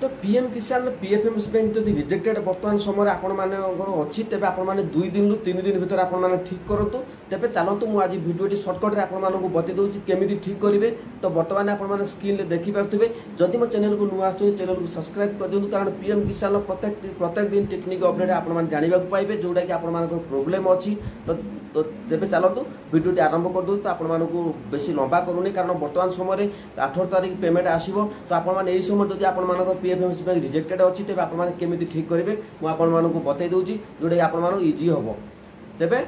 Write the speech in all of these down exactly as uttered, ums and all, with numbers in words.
ତ ପିଏମ୍ କିଷାନ ପିଏଫ୍ଏମ୍ଏସ୍ ବ୍ୟାଙ୍କ ଯଦି ରିଜେକ୍ଟେଡ୍ ବର୍ତ୍ତମାନ ସମୟରେ ଆପଣମାନଙ୍କର ଅଛି, ତେବେ ଆପଣମାନେ ଦୁଇ ଦିନରୁ ତିନି ଦିନ ଭିତରେ ଆପଣମାନେ ଠିକ୍ କରନ୍ତୁ। ତେବେ ଚାଲନ୍ତୁ, ମୁଁ ଆଜି ଭିଡ଼ିଓଟି ସର୍ଟକଟ୍ରେ ଆପଣମାନଙ୍କୁ ବତେଇ ଦେଉଛି କେମିତି ଠିକ୍ କରିବେ। ତ ବର୍ତ୍ତମାନ ଆପଣମାନେ ସ୍କ୍ରିନ୍ରେ ଦେଖିପାରୁଥିବେ। ଯଦି ମୋ ଚ୍ୟାନେଲକୁ ନୂଆ ଆସୁଛନ୍ତି, ଚ୍ୟାନେଲକୁ ସବସ୍କ୍ରାଇବ୍ କରିଦିଅନ୍ତୁ, କାରଣ ପିଏମ୍ କିଷାନର ପ୍ରତ୍ୟେକ ପ୍ରତ୍ୟେକ ଦିନ ଟେକ୍ନିକ୍ ଅପଡେଟ୍ ଆପଣମାନେ ଜାଣିବାକୁ ପାଇବେ, ଯେଉଁଟାକି ଆପଣମାନଙ୍କର ପ୍ରୋବ୍ଲେମ୍ ଅଛି। ତ ତ ତେବେ ଚାଲନ୍ତୁ, ଭିଡ଼ିଓଟି ଆରମ୍ଭ କରିଦେଉଛି। ତ ଆପଣମାନଙ୍କୁ ବେଶୀ ଲମ୍ବା କରୁନି, କାରଣ ବର୍ତ୍ତମାନ ସମୟରେ ଅଠର ତାରିଖ ପେମେଣ୍ଟ ଆସିବ। ତ ଆପଣମାନେ ଏହି ସମୟରେ ଯଦି ଆପଣମାନଙ୍କ P F M bank rejected ଅଛି, ତେବେ ଆପଣମାନେ କେମିତି ଠିକ୍ କରିବେ ମୁଁ ଆପଣମାନଙ୍କୁ ବତେଇ ଦେଉଛି, ଯେଉଁଟାକି ଆପଣମାନଙ୍କୁ ଇଜି ହେବ। ତେବେ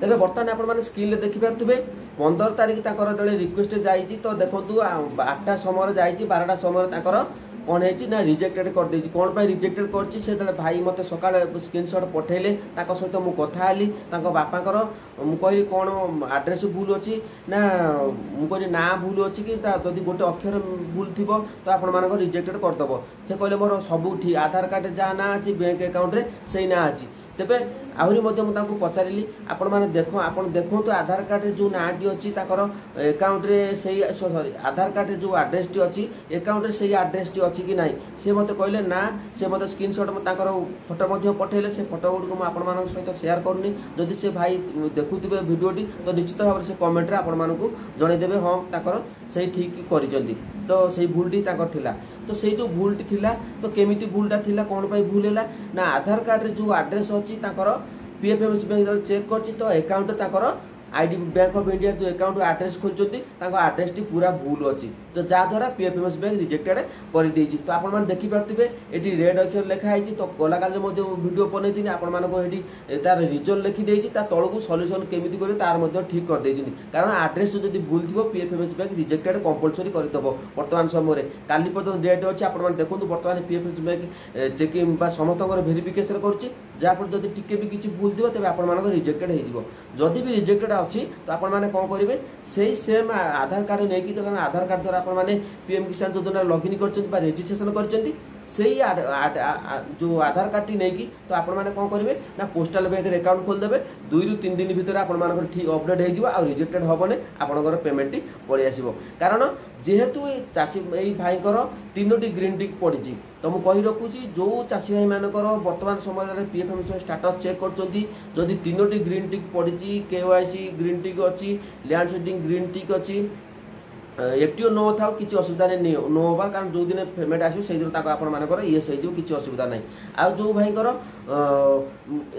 ତେବେ ବର୍ତ୍ତମାନ ଆପଣମାନେ ସ୍କ୍ରିନ୍ରେ ଦେଖିପାରୁଥିବେ, ପନ୍ଦର ତାରିଖ ତାଙ୍କର ଯେତେବେଳେ ରିକ୍ୱେଷ୍ଟ ଯାଇଛି, ତ ଦେଖନ୍ତୁ, ଆଠଟା ସମୟରେ ଯାଇଛି, ବାରଟା ସମୟରେ ତାଙ୍କର କ'ଣ ହେଇଛି ନା ରିଜେକ୍ଟେଡ୍ କରିଦେଇଛି। କ'ଣ ପାଇଁ ରିଜେକ୍ଟେଡ୍ କରିଛି? ସେତେବେଳେ ଭାଇ ମୋତେ ସକାଳେ ସ୍କ୍ରିନସଟ୍ ପଠେଇଲେ, ତାଙ୍କ ସହିତ ମୁଁ କଥା ହେଲି ତାଙ୍କ ବାପାଙ୍କର। ମୁଁ କହିଲି, କ'ଣ ଆଡ୍ରେସ୍ ଭୁଲ ଅଛି ନା, ମୁଁ କହିଲି ନାଁ ଭୁଲ ଅଛି କି ତା ଯଦି ଗୋଟେ ଅକ୍ଷର ଭୁଲ ଥିବ ତ ଆପଣମାନଙ୍କର ରିଜେକ୍ଟେଡ୍ କରିଦେବ। ସେ କହିଲେ, ମୋର ସବୁ ଠିକ୍, ଆଧାର କାର୍ଡ଼ରେ ଯାହା ନାଁ ଅଛି ବ୍ୟାଙ୍କ ଆକାଉଣ୍ଟରେ ସେଇ ନାଁ ଅଛି। ତେବେ ଆହୁରି ମଧ୍ୟ ମୁଁ ତାଙ୍କୁ ପଚାରିଲି, ଆପଣମାନେ ଦେଖ ଆପଣ ଦେଖନ୍ତୁ, ଆଧାର କାର୍ଡ଼ରେ ଯେଉଁ ନାଁଟି ଅଛି ତାଙ୍କର ଆକାଉଣ୍ଟରେ ସେଇ, ସରି, ଆଧାର କାର୍ଡ଼ରେ ଯେଉଁ ଆଡ୍ରେସଟି ଅଛି ଆକାଉଣ୍ଟରେ ସେଇ ଆଡ୍ରେସଟି ଅଛି କି ନାହିଁ? ସେ ମୋତେ କହିଲେ ନା। ସେ ମୋତେ ସ୍କ୍ରିନସଟ୍ ତାଙ୍କର ଫଟୋ ମଧ୍ୟ ପଠେଇଲେ। ସେ ଫଟୋ ଗୁଡ଼ିକୁ ମୁଁ ଆପଣମାନଙ୍କ ସହିତ ସେୟାର କରୁନି। ଯଦି ସେ ଭାଇ ଦେଖୁଥିବେ ଭିଡ଼ିଓଟି, ତ ନିଶ୍ଚିତ ଭାବରେ ସେ କମେଣ୍ଟରେ ଆପଣମାନଙ୍କୁ ଜଣେଇଦେବେ, ହଁ, ତାଙ୍କର ସେଇ ଠିକ୍ କରିଛନ୍ତି। ତ ସେଇ ଭୁଲଟି ତାଙ୍କର ଥିଲା। ତ ସେଇ ଯେଉଁ ଭୁଲଟି ଥିଲା, ତ କେମିତି ଭୁଲଟା ଥିଲା, କ'ଣ ପାଇଁ ଭୁଲ ହେଲା ନା, ଆଧାର କାର୍ଡ଼ରେ ଯେଉଁ ଆଡ୍ରେସ୍ ଅଛି ତାଙ୍କର P F M S bank ଯେତେବେଳେ ଚେକ୍ କରିଛି, ତ ଆକାଉଣ୍ଟରେ ତାଙ୍କର I D bank of India ଯେଉଁ ଆକାଉଣ୍ଟ ଆଡ୍ରେସ୍ ଖୋଲିଛନ୍ତି, ତାଙ୍କ ଆଡ୍ରେସଟି ପୁରା ଭୁଲ ଅଛି। ତ ଯାହାଦ୍ୱାରା P F M S bank rejected କରିଦେଇଛି। ତ ଆପଣମାନେ ଦେଖିପାରୁଥିବେ, ଏଠି ରେଡ୍ ଅକ୍ଷର ଲେଖା ହେଇଛି। ତ ଗଲାକାଲି ମଧ୍ୟ ଭିଡ଼ିଓ ବନେଇଥିଲି ଆପଣମାନଙ୍କୁ, ଏଠି ତାର ରିଜନ୍ ଲେଖିଦେଇଛି, ତା ତଳକୁ ସଲ୍ୟୁସନ୍ କେମିତି କରିବେ ତାର ମଧ୍ୟ ଠିକ୍ କରିଦେଇଛନ୍ତି। କାରଣ ଆଡ୍ରେସ୍ ଯଦି ଭୁଲ ଥିବ, P F M S bank rejected compulsory କରିଦେବ। ବର୍ତ୍ତମାନ ସମୟରେ କାଲି ପର୍ଯ୍ୟନ୍ତ ଡେଟ୍ ଅଛି। ଆପଣମାନେ ଦେଖନ୍ତୁ, ବର୍ତ୍ତମାନ P F M S bank checking ବା ସମସ୍ତଙ୍କର ଭେରିଫିକେସନ୍ କରୁଛି, ଯାହାଫଳରେ ଯଦି ଟିକେ ବି କିଛି ଭୁଲ ଥିବ ତେବେ ଆପଣମାନଙ୍କର ରିଜେକ୍ଟେଡ୍ ହେଇଯିବ। ଯଦି ବି ରିଜେକ୍ଟେଡ୍ ଅଛି, ତ ଆପଣମାନେ କ'ଣ କରିବେ? ସେଇ ସେମ୍ ଆଧାର କାର୍ଡ଼ ନେଇକି, କାରଣ ଆଧାର କାର୍ଡ଼ ଦ୍ୱାରା ଆପଣମାନେ ପି ଏମ୍ କିଷାନ ଯୋଜନାରେ ଲଗ୍ଇନ୍ କରିଛନ୍ତି ବା ରେଜିଷ୍ଟ୍ରେସନ କରିଛନ୍ତି, ସେଇ ଯେଉଁ ଆଧାର କାର୍ଡ଼ଟି ନେଇକି ତ ଆପଣମାନେ କ'ଣ କରିବେ ନା ପୋଷ୍ଟାଲ ବ୍ୟାଙ୍କରେ ଆକାଉଣ୍ଟ ଖୋଲିଦେବେ। ଦୁଇରୁ ତିନି ଦିନ ଭିତରେ ଆପଣମାନଙ୍କର ଠିକ୍ ଅପଡେଟ୍ ହେଇଯିବ ଆଉ ରିଜେକ୍ଟେଡ୍ ହେବନି, ଆପଣଙ୍କର ପେମେଣ୍ଟଟି ପଳେଇ ଆସିବ। କାରଣ ଯେହେତୁ ଏ ଚାଷୀ ଏଇ ଭାଇଙ୍କର ତିନୋଟି ଗ୍ରୀନ୍ ଟିକ୍ ପଡ଼ିଛି। ତ ମୁଁ କହି ରଖୁଛି, ଯେଉଁ ଚାଷୀ ଭାଇମାନଙ୍କର ବର୍ତ୍ତମାନ ସମୟରେ P F M status check କରୁଛନ୍ତି, ଯଦି ତିନୋଟି ଗ୍ରୀନ୍ ଟିକ୍ ପଡ଼ିଛି, କେ ୱାଇ ସି ଗ୍ରୀନ୍ ଟିକ୍ ଅଛି, ଲ୍ୟାଣ୍ଡ ସିଡ଼ିଂ ଗ୍ରୀନ୍ ଟିକ୍ ଅଛି, ଏଫ୍ ଟି ଓ ନ ଥାଉ, କିଛି ଅସୁବିଧା ନାହିଁ ନ ହେବା, କାରଣ ଯେଉଁଦିନ ପେମେଣ୍ଟ ଆସିବ ସେଇଦିନ ତାକୁ ଆପଣମାନଙ୍କର ୟେସ୍ ହେଇଯିବ, କିଛି ଅସୁବିଧା ନାହିଁ। ଆଉ ଯେଉଁ ଭାଇଙ୍କର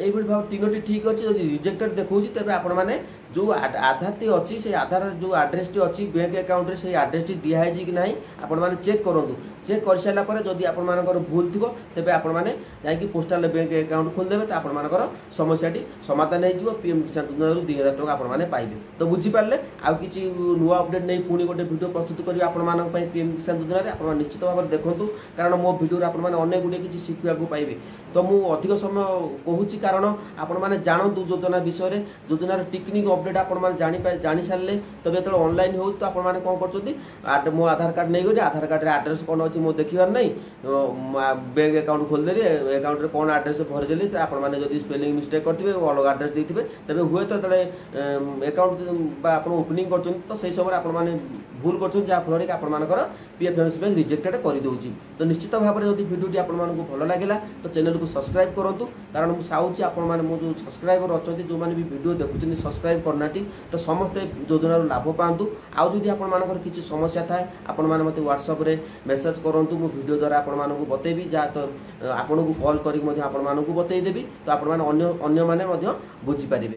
ଏଇଭଳି ଭାବେ ତିନୋଟି ଠିକ୍ ଅଛି, ଯଦି ରିଜେକ୍ଟେଡ୍ ଦେଖାଉଛି, ତେବେ ଆପଣମାନେ ଯେଉଁ ଆଧାରଟି ଅଛି, ସେଇ ଆଧାର ଯେଉଁ ଆଡ୍ରେସଟି ଅଛି ବ୍ୟାଙ୍କ ଆକାଉଣ୍ଟରେ ସେଇ ଆଡ୍ରେସଟି ଦିଆହେଇଛି କି ନାହିଁ ଆପଣମାନେ ଚେକ୍ କରନ୍ତୁ। ଚେକ୍ କରିସାରିଲା ପରେ ଯଦି ଆପଣମାନଙ୍କର ଭୁଲ ଥିବ, ତେବେ ଆପଣମାନେ ଯାଇକି ପୋଷ୍ଟାଲ ବ୍ୟାଙ୍କ ଆକାଉଣ୍ଟ ଖୋଲିଦେବେ, ତ ଆପଣମାନଙ୍କର ସମସ୍ୟାଟି ସମାଧାନ ହେଇଯିବ। ପି ଏମ୍ କିଷାନ ଯୋଜନାରୁ ଦୁଇ ହଜାର ଟଙ୍କା ଆପଣମାନେ ପାଇବେ। ତ ବୁଝିପାରିଲେ? ଆଉ କିଛି ନୂଆ ଅପଡେଟ୍ ନେଇ ପୁଣି ଗୋଟେ ଭିଡ଼ିଓ ପ୍ରସ୍ତୁତ କରିବି ଆପଣମାନଙ୍କ ପାଇଁ ପି ଏମ୍ କିଷାନ ଯୋଜନାରେ। ଆପଣମାନେ ନିଶ୍ଚିତ ଭାବରେ ଦେଖନ୍ତୁ, କାରଣ ମୋ ଭିଡ଼ିଓରେ ଆପଣମାନେ ଅନେକ ଗୁଡ଼ିଏ କିଛି ଶିଖିବାକୁ ପାଇବେ। ତ ମୁଁ ଅଧିକ ସମୟ କହୁଛି, କାରଣ ଆପଣମାନେ ଜାଣନ୍ତୁ ଯୋଜନା ବିଷୟରେ। ଯୋଜନାର ଟେକ୍ନିକ୍ ଅପଡେଟ୍ ଆପଣମାନେ ଜାଣି ଜାଣିସାରିଲେ, ତେବେ ଯେତେବେଳେ ଅନଲାଇନ୍ ହେଉଛି, ତ ଆପଣମାନେ କ'ଣ କରୁଛନ୍ତି? ମୋ ଆଧାର କାର୍ଡ଼ ନେଇଗଲି, ଆଧାର କାର୍ଡ଼ରେ ଆଡ୍ରେସ୍ କ'ଣ ଅଛି ମୁଁ ଦେଖିବାର ନାହିଁ, ବ୍ୟାଙ୍କ ଆକାଉଣ୍ଟ ଖୋଲିଦେଲି, ଆକାଉଣ୍ଟରେ କ'ଣ ଆଡ୍ରେସ୍ ଭରିଦେଲି। ତ ଆପଣମାନେ ଯଦି ସ୍ପେଲିଂ ମିଷ୍ଟେକ୍ କରିଥିବେ, ଅଲଗା ଆଡ୍ରେସ୍ ଦେଇଥିବେ, ତେବେ ହୁଏତ ଯେତେବେଳେ ଆକାଉଣ୍ଟ ବା ଆପଣ ଓପନିଂ କରୁଛନ୍ତି, ତ ସେଇ ସମୟରେ ଆପଣମାନେ ଭୁଲ କରୁଛନ୍ତି, ଯାହାଫଳରେ କି ଆପଣମାନଙ୍କର P F M S bank rejected କରିଦେଉଛି। ତ ନିଶ୍ଚିତ ଭାବରେ ଯଦି ଭିଡ଼ିଓଟି ଆପଣମାନଙ୍କୁ ଭଲ ଲାଗିଲା, ତ ଚ୍ୟାନେଲକୁ ସବସ୍କ୍ରାଇବ୍ କରନ୍ତୁ, କାରଣ ମୁଁ ଚାହୁଁଛି ଆପଣମାନେ ମୋ ଯେଉଁ ସବସ୍କ୍ରାଇବର ଅଛନ୍ତି, ଯେଉଁମାନେ ବି ଭିଡ଼ିଓ ଦେଖୁଛନ୍ତି, ସବସ୍କ୍ରାଇବ୍ କରିନାହାନ୍ତି, ତ ସମସ୍ତେ ଯୋଜନାରୁ ଲାଭ ପାଆନ୍ତୁ। ଆଉ ଯଦି ଆପଣମାନଙ୍କର କିଛି ସମସ୍ୟା ଥାଏ, ଆପଣମାନେ ମୋତେ ହ୍ୱାଟ୍ସଆପ୍ରେ ମେସେଜ୍ କରନ୍ତୁ, ମୁଁ ଭିଡ଼ିଓ ଦ୍ୱାରା ଆପଣମାନଙ୍କୁ ବତେଇବି, ଯାହା ତ ଆପଣଙ୍କୁ କଲ୍ କରିକି ମଧ୍ୟ ଆପଣମାନଙ୍କୁ ବତେଇଦେବି, ତ ଆପଣମାନେ ଅନ୍ୟ ଅନ୍ୟମାନେ ମଧ୍ୟ ବୁଝିପାରିବେ।